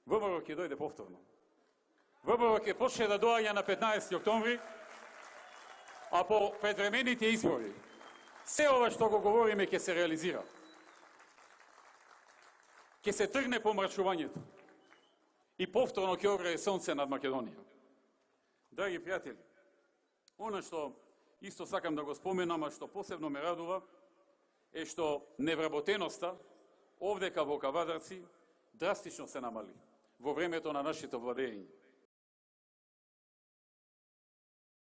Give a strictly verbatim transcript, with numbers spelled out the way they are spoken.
ВМРО ќе дојде повторно. ВМРО ќе почне да доаѓа на петнаесети октомври, а по предвремените избори се ова што го говориме ќе се реализира. Ќе се тргне помрачувањето и повторно ќе огрее сонце над Македонија. Драги пријатели, она што исто сакам да го споменам, а што посебно ме радува, е што невработеноста овдека во Кавадарци драстично се намали во времето на нашето владење.